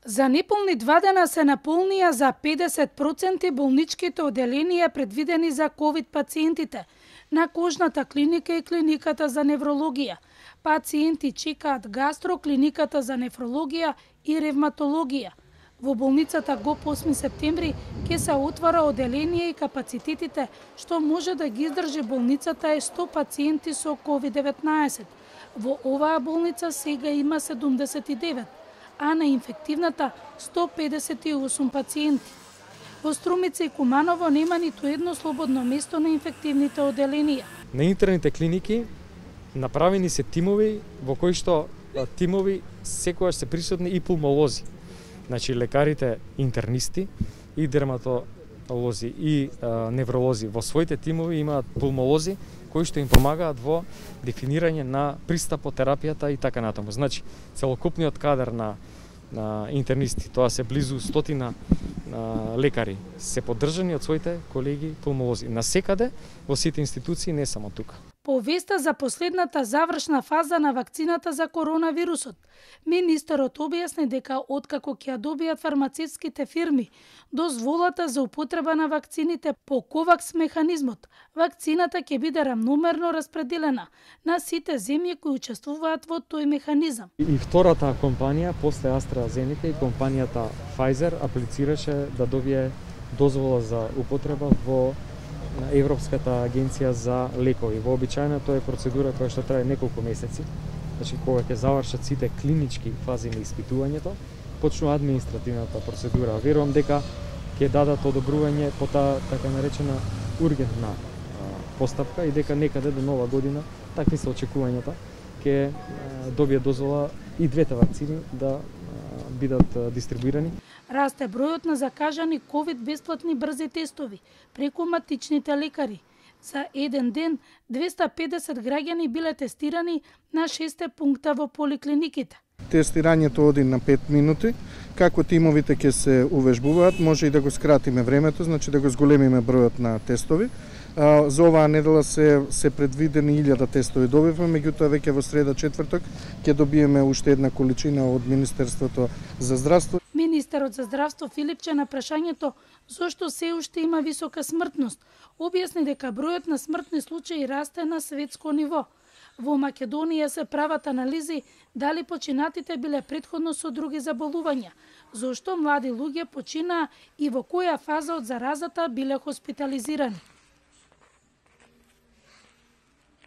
За неполни 2 дена се наполнија за 50% болничките оделенија предвидени за ковид пациентите на кожната клиника и клиниката за неврологија. Пациенти чекаат гастро, клиниката за нефрологија и ревматологија. Во болницата ГОП 8 септември ќе се отвара оделение и капацитетите што може да ги издржи болницата е 100 пациенти со COVID-19. Во оваа болница сега има 79, а на инфективната 158 пациенти. Во Струмица и Куманово нема ниту едно слободно место на инфективните оделенија. На интерните клиники направени се тимови во кои што тимови секогаш се присутни и пулмолози. Значи лекарите интернисти и дерматолози и невролози во своите тимови имаат пулмолози кои што им помагаат во дефинирање на пристапотерапијата и така натаму. Значи целокупниот кадар на интернисти, тоа се близу 100 лекари, се поддржани од своите колеги пулмолози. Насекаде во сите институции, не само тука. По веста за последната завршна фаза на вакцината за коронавирусот, министерот објасни дека откако ќе ја добијат фармацевтските фирми дозволата за употреба на вакцините по ковакс механизмот, вакцината ќе биде рамномерно распределена на сите земји кои учествуваат во тој механизам. И втората компанија после AstraZeneca и компанијата Pfizer аплицираше да добие дозвола за употреба во Европската агенција за лекови. Вообичаено тоа е процедура која што трае неколку месеци. Значи кога ќе завршат сите клинички фази на испитувањето, почнува административната процедура. Верувам дека ќе дадат одобрување по таа така наречена ургентна постапка и дека некаде до нова година, такви се очекувањата, ќе добие дозвола и двете вакцини да бидат дистрибуирани. Расте бројот на закажани ковид бесплатни брзи тестови преку матичните лекари. За еден ден 250 граѓани биле тестирани на 6 пункта во поликлиниките. Тестирањето оди на 5 минути. Како тимовите ќе се увежбуваат, може и да го скратиме времето, значи да го зголемиме бројот на тестови. За оваа недела се предвидени 1000 тестови добивме, меѓутоа веќе во среда четврток ќе добиеме уште една количина од Министерството за здравство. Министерот за здравство Филипче на прашањето зошто се уште има висока смртност, објасни дека бројот на смртни случаи расте на светско ниво. Во Македонија се прават анализи дали починатите биле претходно со други заболувања, зошто млади луѓе починаа и во која фаза од заразата биле хоспитализирани.